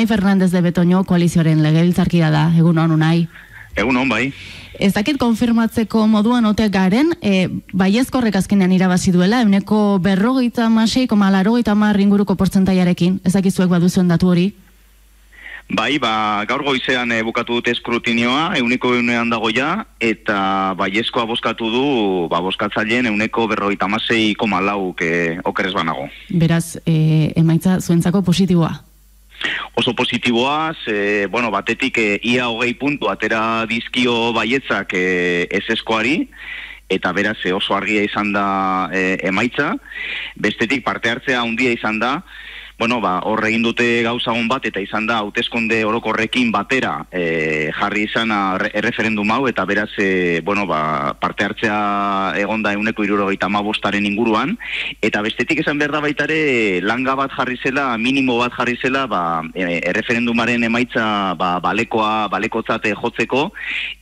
Unai Fernandez de Betoño koalizioaren legebiltzarkida da, egunon Unai. Egunon, bai. Ez dakit konfirmatzeko moduan ote garen, baiezkorrek azkenean irabazi duela, 46,80 inguruko portzentaiarekin, ez dakizuek baduzuen datu hori? Bai, gaur goizean bukatu dute eskrutinioa, 100% dago ja, eta baiezkoa bozkatu du, bozkatzaileen 46,4 okerez banago. Beraz, emaitza zuentzako positiboa? Oso positiboa, batetik ia 20 puntu atera dizkio baietzak ezeskoari, eta beraz oso argia izan da emaitza. Bestetik parte hartzea handia izan da, hor egin dute gauzagon bat, eta izan da hauteskunde orokorrekin batera jarri izan erreferendum hau, eta beraz parte hartzea egonda 175 inguruan, eta bestetik esan behar da baitare langa bat jarri zela, minimo bat jarri zela, erreferendumaren emaitza balekotzat jotzeko,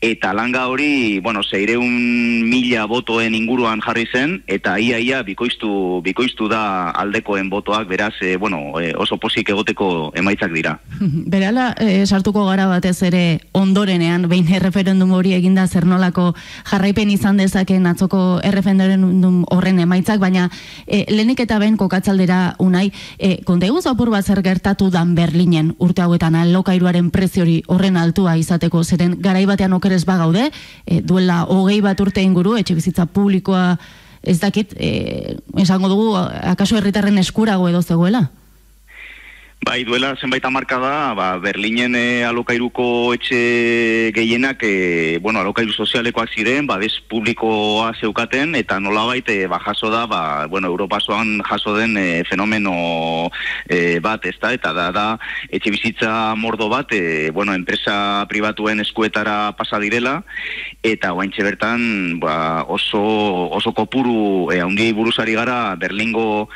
eta langa hori, 600.000 botoen inguruan jarri zen, eta ia bikoiztu da aldekoen botoak, beraz, oso pozik egoteko emaitzak dira. Berala, sartuko gara batez ere ondorenean, behin erreferendum hori eginda zer nolako jarraipen izan dezaken atzoko erreferendum horren emaitzak, baina lehenik eta behin kokatzaldera Unai, kontaiguz apur bat zer gertatu dan Berlinen urte hauetan alokairuaren preziori horren altua izateko, zeren garai batean okerez bagaude, duela 20 bat urte inguru, etxe bizitza publikoa ez dakit, esango dugu, akaso herritarren eskurago edo zegoela? Bai, duela zenbait hamarkada, Berlinen alokairuko etxe gehienak, alokairu sozialekoak ziren, babes publikoa zeukaten, eta nolabait jaso da, Europasoan jaso den fenomeno bat, ezta, eta da etxe bizitza mordo bat, enpresa pribatuen eskuetara pasa direla, eta oaintxe bertan oso kopuru handiei buruzari gara Berlingo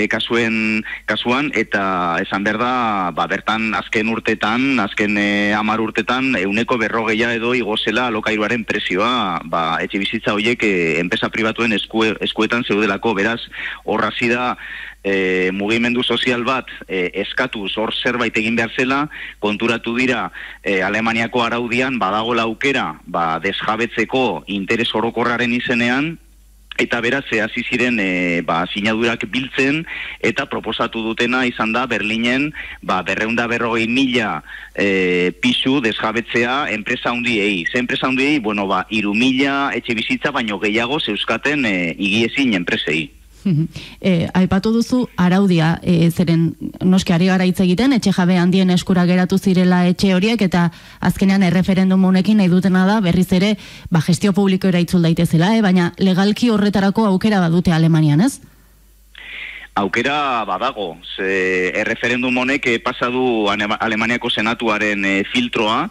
kasuan, eta esan behar da, bertan azken urtetan, azken 10 urtetan, 140 edo igozela alokairuaren prezioa, etxe bizitza horiek enpresa pribatuen eskuetan zeudelako, beraz, horra zida mugimendu sozial bat eskatuz hor zerbait egin behar zela, konturatu dira Alemaniako araudian badagoela aukera desjabetzeko interes orokorraren izenean, eta beraz, hasi ziren sinadurak biltzen, eta proposatu dutena izan da Berlinen 240.000 pisu desjabetzea enpresa handiei. Ze enpresa handiei, 3.000 etxe bizitza baino gehiago zeuskaten higiezin enpresei. Aipatu duzu araudia, zeren noski ari gara hitz egiten, etxe jabe handien eskura geratu zirela etxe horiek, eta azkenean erreferendum honekin nahi dutena da berriz ere gestio publikoera itzul daitezela, baina legalki horretarako aukera badute Alemanian, ez? Aukera badago, erreferendum honek pasadu Alemaniako senatuaren filtroa,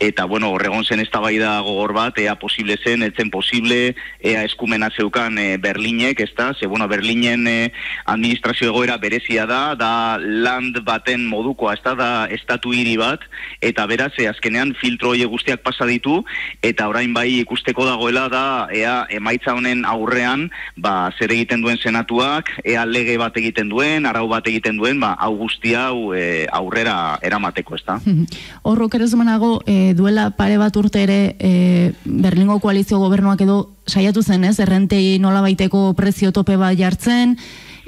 eta horregon zen eztabaida gogor bat, ea posible zen, etzen posible, ea eskumena zeukan Berlinek, ezta? Berlinen administrazio egoera berezia da land baten modukoa, ezta, da estatu hiri bat, eta beraz, azkenean filtro horiek guztiak pasa ditu, eta orain bai ikusteko dagoela da, ea emaitza honen aurrean, zer egiten duen senatuak, ea lege bat egiten duen, arau bat egiten duen, hau guztia aurrera eramateko, ezta? Horrok ere zumanago, duela pare bat urte ere Berlingo koalizio gobernuak edo saiatu zen, ez? Errentei nolabaiteko prezio tope bat jartzen,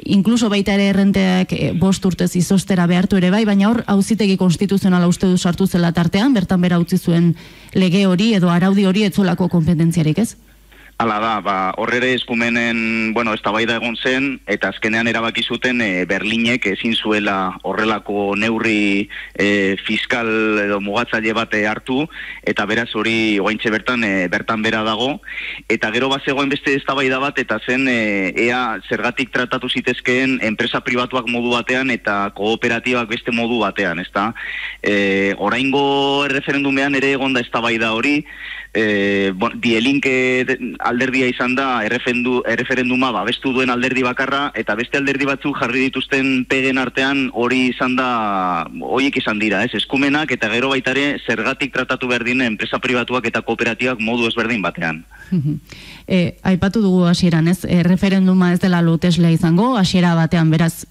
inkluso baita ere errenteak 5 urtez izostera behartu ere bai, baina hor auzitegi konstituzionala uste du sartu zela tartean, bertan bera utzi zuen lege hori edo araudi hori etzolako kompetentziarik, ez? Hala da, horrere eskumenen, eztabaida egon zen, eta azkenean erabaki zuten Berlinek ezin zuela horrelako neurri fiskal edo mugatzaile bat hartu, eta beraz hori oaintxe bertan bera dago, eta gero bazegoen beste eztabaida bat, eta zen ea zergatik tratatu zitezkeen enpresa pribatuak modu batean, eta kooperatibak beste modu batean, ezta? Oraingo erreferendumean ere egonda eztabaida hori, Die Linke alderdia izan da erreferenduma babestu duen alderdi bakarra, eta beste alderdi batzuk jarri dituzten pegen artean hori izan da, horiek izan dira, eskumenak eta gero baitare zergatik tratatu berdin enpresa pribatuak eta kooperatibak modu ezberdin batean. Aipatu dugu hasieran, referenduma ez dela loteslea izango, hasiera batean, beraz,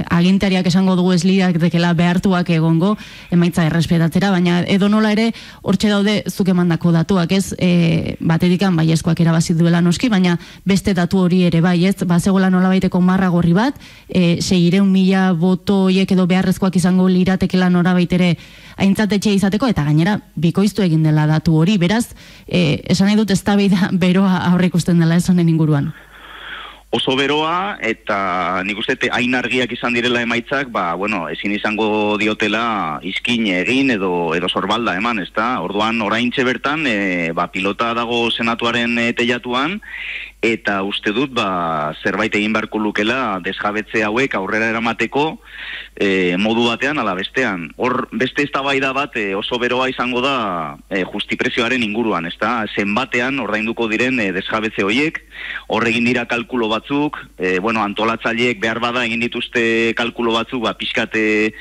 agintariak esango dugu ez lirakekela behartuak egongo, emaitza errespetatzera, baina edonola ere, hortxe daude zuk emandako datuak, ez, batetikan baiezkoak erabazi duela noski, baina beste datu hori ere bai, ez, bazegoela nolabaiteko marra gorri bat, 600.000 boto hiek edo beharrezkoak izango liratekela norabait ere aintzatetxe izateko, eta gainera bikoiztu egin dela datu hori, beraz, esan nahi dut eztabaida beroa aurreikusten dela ez honen inguruan. Oso beroa, eta nik uste hain argiak izan direla emaitzak, ezin izango diotela izkin egin edo sorbalda eman, ezta? Orduan, oraintxe bertan, pilota dago senatuaren teilatuan, eta uste dut, zerbait egin beharko lukela desjabetze hauek aurrera eramateko modu batean ala bestean. Hor, beste eztabaida bat oso beroa izango da justiprezioaren inguruan, ezta? Zenbatean ordainduko diren desjabetze horiek, hor egin dira kalkulo batzuk, antolatzaileek behar bada egin dituzte kalkulo batzuk, pixkate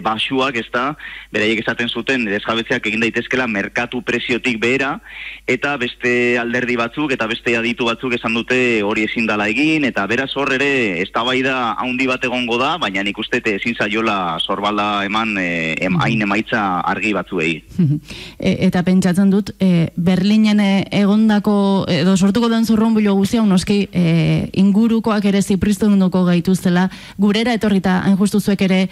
basuak, ezta? Beraiek esaten zuten desjabetzeak egin daitezkela merkatu preziotik behera, eta beste alderdi batzuk eta beste aditu batzuk esan dute hori ezin dala egin, eta beraz hor ere eztabaida handi bat egongo da, baina nik uste ezin zaiola sorbalda eman hain emaitza argi batzuei. Eta pentsatzen dut, Berlinen egondako, edo sortuko den zurrunbilo guztia, noski ingurukoak ere zipristunduko gaituztela, gurera etorrita hain justu zuek ere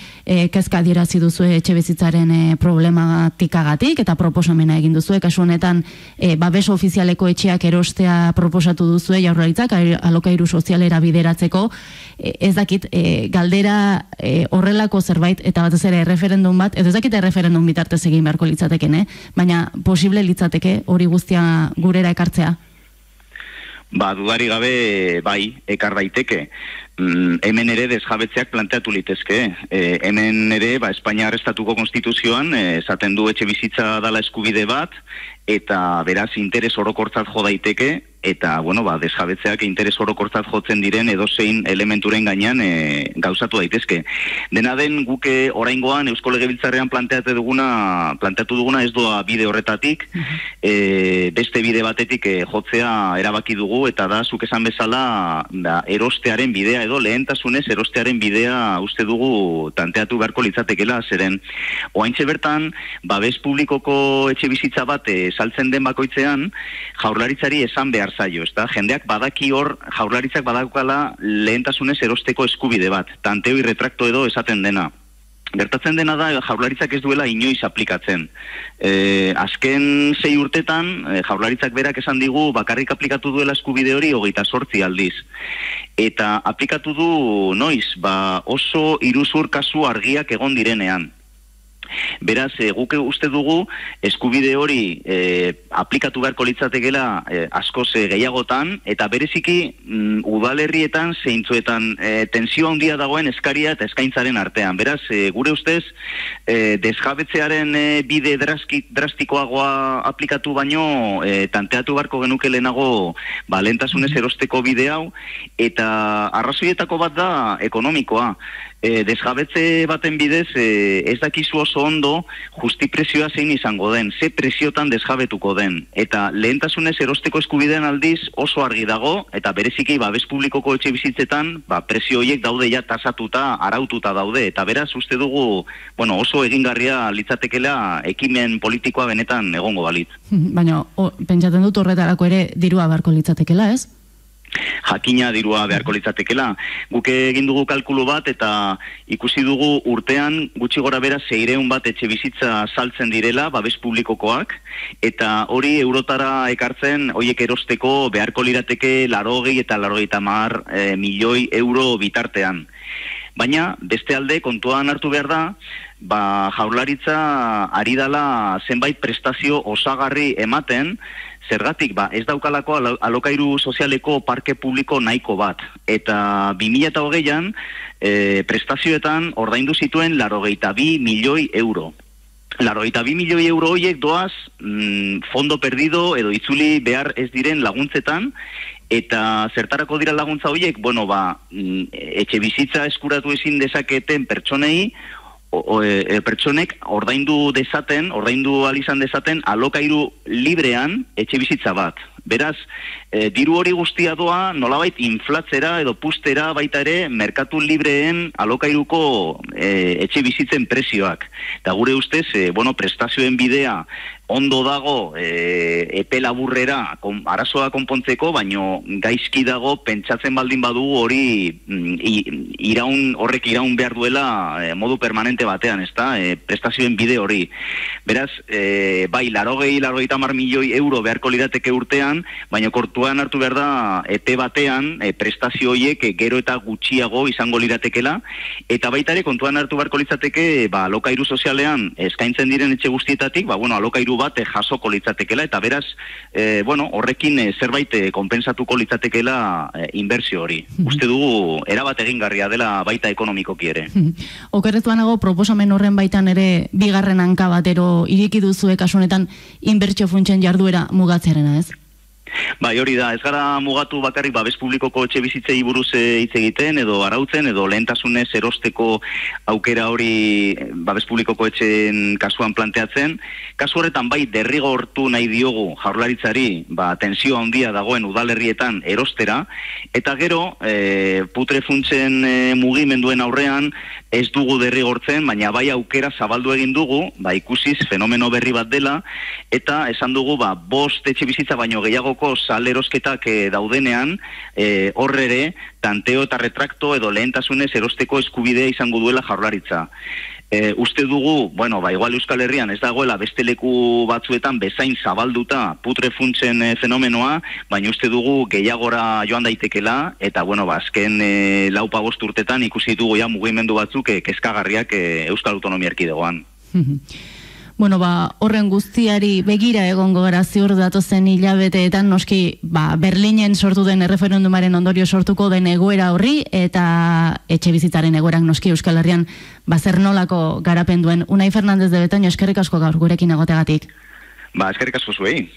kezka adierazi duzue etxebizitzaren problematikagatik, eta proposamena egin duzue, kasu honetan babes ofizialeko etxeak erostea proposatu duzue Jaurlaritzak alokairu sozialera bideratzeko. Ez dakit, galdera horrelako zerbait, eta batez ere referendum bat, edo ez dakit referendum bitartez egin beharko litzateken, baina posible litzateke hori guztia gurera ekartzea? Dudari gabe bai, ekar daiteke. Hemen ere desjabetzeak planteatu litezke. Hemen ere, Espainiar Estatuko Konstituzioan, esaten du etxe bizitza dala eskubide bat, eta beraz interes orokortzat jo daiteke, eta, desjabetzeak interes orokortzat jotzen diren edozein elementuren gainean gauzatu daitezke. Dena den guke oraingoan Eusko Legebiltzarrean planteatu duguna ez doa bide horretatik, beste bide batetik jotzea erabaki dugu, eta da, zuk esan bezala, erostearen bidea edo lehentasunez erostearen bidea uste dugu tanteatu beharko litzatekela, zeren oraintxe bertan, babes publikoko etxe bizitza bat saltzen den bakoitzean, Jaurlaritzari esan behar zaio, ezta? Jendeak badaki hor, Jaurlaritzak badakala lehentasunez erosteko eskubide bat, tanteo irretrakto edo esaten dena. Gertatzen dena da, Jaurlaritzak ez duela inoiz aplikatzen. Azken 6 urtetan, Jaurlaritzak berak esan digu bakarrik aplikatu duela eskubide hori 28 aldiz. Eta aplikatu du noiz, oso iruzur kasu argiak egon direnean. Beraz, guk uste dugu eskubide hori aplikatu beharko litzatekela askoz gehiagotan, eta bereziki udalerrietan zeintzuetan tensio handia dagoen eskaria eta eskaintzaren artean. Beraz, gure ustez, desjabetzearen bide drastikoagoa aplikatu baino, tanteatu beharko genuke lehenago lehentasunez erosteko bide hau, eta arrazoietako bat da ekonomikoa. Desjabetze baten bidez ez dakizu oso ondo justiprezioa zein izango den, ze preziotan desjabetuko den, eta lehentasunez erosteko eskubideen aldiz oso argi dago, eta bereziki babes publikoko etxe bizitzetan prezio horiek daude ja tasatuta, araututa daude, eta beraz uste dugu oso egingarria litzatekela ekimen politikoa benetan egongo balit. Baina pentsatzen dut horretarako ere dirua beharko litzatekela, ez? Jakina dirua beharko litzatekela. Guk egin dugu kalkulu bat eta ikusi dugu urtean gutxi gora bera 600 bat etxe bizitza saltzen direla, babes publikokoak, eta hori eurotara ekartzen, horiek erosteko beharko lirateke 80 eta 90 milioi euro bitartean. Baina, beste alde, kontuan hartu behar da, Jaurlaritza ari dala zenbait prestazio osagarri ematen, zergatik, ez daukalako alokairu sozialeko parke publiko nahiko bat. Eta 2020an prestazioetan ordaindu zituen 82 milioi euro. Larogeita 2 milioi euro horiek doaz fondo perdido edo itzuli behar ez diren laguntzetan, eta zertarako dira laguntza horiek, etxe bizitza eskuratu ezin dezaketen pertsonei, pertsonek ordaindu alizan dezaten alokairu librean etxe bizitza bat. Beraz, diru hori guztia doa nolabait inflatzera edo pustera baita ere merkatu libreen alokairuko etxe bizitzen prezioak. Eta gure ustez, prestazioen bidea ondo dago epe laburrera arazoa konpontzeko, baino gaizki dago pentsatzen baldin badu hori horrek iraun behar duela modu permanente batean, ezta? Prestazioen bide hori. Beraz, bai, 80 milioi euro beharko lirateke urtean, baina kortuan hartu behar da epe batean prestazio horiek gero eta gutxiago izango liratekela, eta baita ere kontuan hartu beharko litzateke alokairu sozialean eskaintzen diren etxe guztietatik, alokairu bat jasoko litzatekela, eta beraz, horrekin zerbait konpensatuko litzatekela inbertsio hori. Uste dugu, erabat egingarria dela baita ekonomikoki ere. Okerretuanago, proposamen horren baitan ere bigarren hanka batero iriki duzue kasu honetan inbertsio funtsen jarduera mugatzearena, ez? Bai, hori da, ez gara mugatu bakarrik babes publikoko etxe bizitzei buruz hitz egiten, edo arautzen, edo lehentasunez erosteko aukera hori babes publikoko etxeen kasuan planteatzen. Kasu horretan bai derrigortu nahi diogu Jaurlaritzari tensio handia dagoen udalerrietan erostera, eta gero putre funtsen mugimenduen aurrean ez dugu derrigortzen, baina bai aukera zabaldu egin dugu, ikusiz fenomeno berri bat dela, eta esan dugu 5 etxe bizitza baino gehiagoko salerosketak daudenean, horrere, tanteo eta retrakto edo lehentasunez erosteko eskubidea izango duela Jaurlaritza. Uste dugu, igual Euskal Herrian ez dagoela beste leku batzuetan bezain zabalduta putre funtsen fenomenoa, baina uste dugu gehiagora joan daitekela, eta azken 4-5 urtetan ikusi dugu mugimendu batzuk kezkagarriak Euskal Autonomia Erkidegoan. Horren guztiari begira egongo gara ziur datozen hilabeteetan, noski Berlinen sortu den erreferendumaren ondorio sortuko den egoera horri, eta etxe bizitzaren egoerak noski Euskal Herrian zer nolako garapen duen. Unai Fernandez de Betoño, eskerrik asko gaur gurekin egoteagatik. Eskerrik asko zuei.